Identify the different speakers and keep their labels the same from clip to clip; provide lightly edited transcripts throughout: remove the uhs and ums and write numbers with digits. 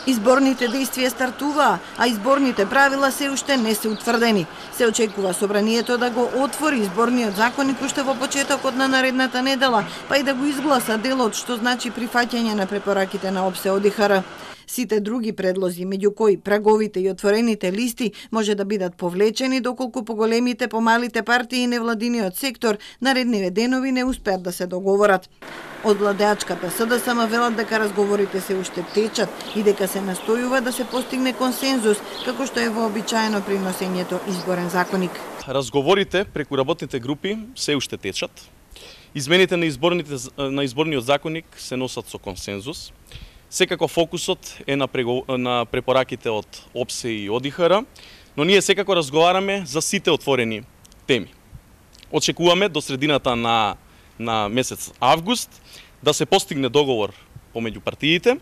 Speaker 1: Изборните действија стартуваа, а изборните правила се уште не се утврдени. Се очекува собранието да го отвори изборниот законник уште во почетокот на наредната недела, па и да го изгласа делот, што значи прифаќање на препораките на ОПСЕ ОДИХР. Сите други предлози, меѓу кои праговите и отворените листи, може да бидат повлечени доколку поголемите, помалите партии и невладиниот сектор наредниве денови не успеат да се договорат. Од владеачката СДСМ велат дека разговорите се уште течат и дека се настојува да се постигне консензус, како што е вообичаено при носењето изборен законник.
Speaker 2: Разговорите преку работните групи се уште течат. Измените на изборниот законник се носат со консензус. Секако фокусот е на препораките од ОПСЕ и ОДИХР, но ние секако разговараме за сите отворени теми. Очекуваме до средината на месец август да се постигне договор помеѓу партиите,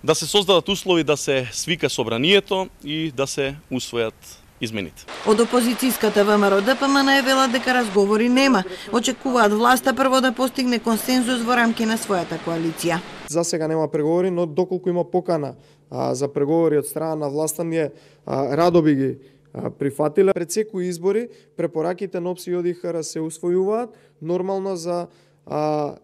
Speaker 2: да се создадат услови да се свика собранието и да се усвојат измените.
Speaker 1: Од опозицијската ВМРО ДПМН велат дека разговори нема. Очекуваат власта прво да постигне консензус во рамки на својата коалиција.
Speaker 3: За сега нема преговори, но доколку има покана за преговори од страна на власта, ние радо би ги прифатиле. Пред секои избори препораките на ОПСЕ и ОДИХР се усвојуваат нормално за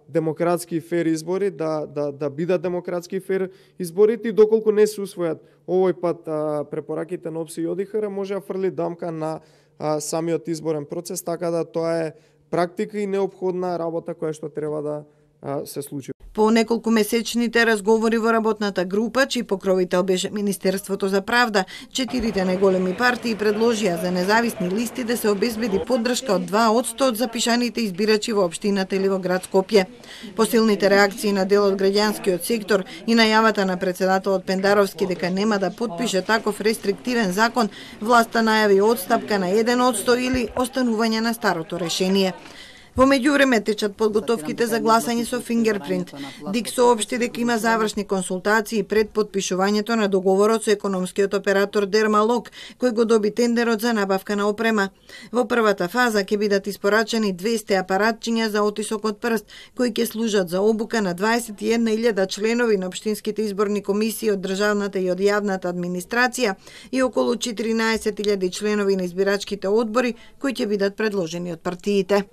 Speaker 3: демократски фер избори, да бидат демократски фер изборите, и доколку не се усвојат овој пат препораките на ОПСЕ и ОДИХР, може да фрли дамка на самиот изборен процес, така да тоа е практика и неопходна работа која што треба да се случи.
Speaker 1: По неколку месечните разговори во работната група, чиј покровител беше Министерството за правда, 4 најголеми партии предложија за независни листи да се обезбеди поддршка од 2% од запишаните избирачи во општината или во град Скопје. Посилните реакции на дел од граѓанскиот сектор и најавата на председателот Пендаровски дека нема да потпише таков рестриктивен закон, власта најави одстапка на 1% или останување на старото решение. Во меѓувреме течат подготовките за гласање со фингерпринт. ДИК соопшти дека има завршни консултации пред потпишувањето на договорот со економскиот оператор Дермалог, кој го доби тендерот за набавка на опрема. Во првата фаза ќе бидат испорачени 200 апаратчиња за отисок од прст, кои ќе служат за обука на 21.000 членови на општинските изборни комисии од државната и од јавната администрација и околу 14.000 членови на избирачките одбори кои ќе бидат предложени од партиите.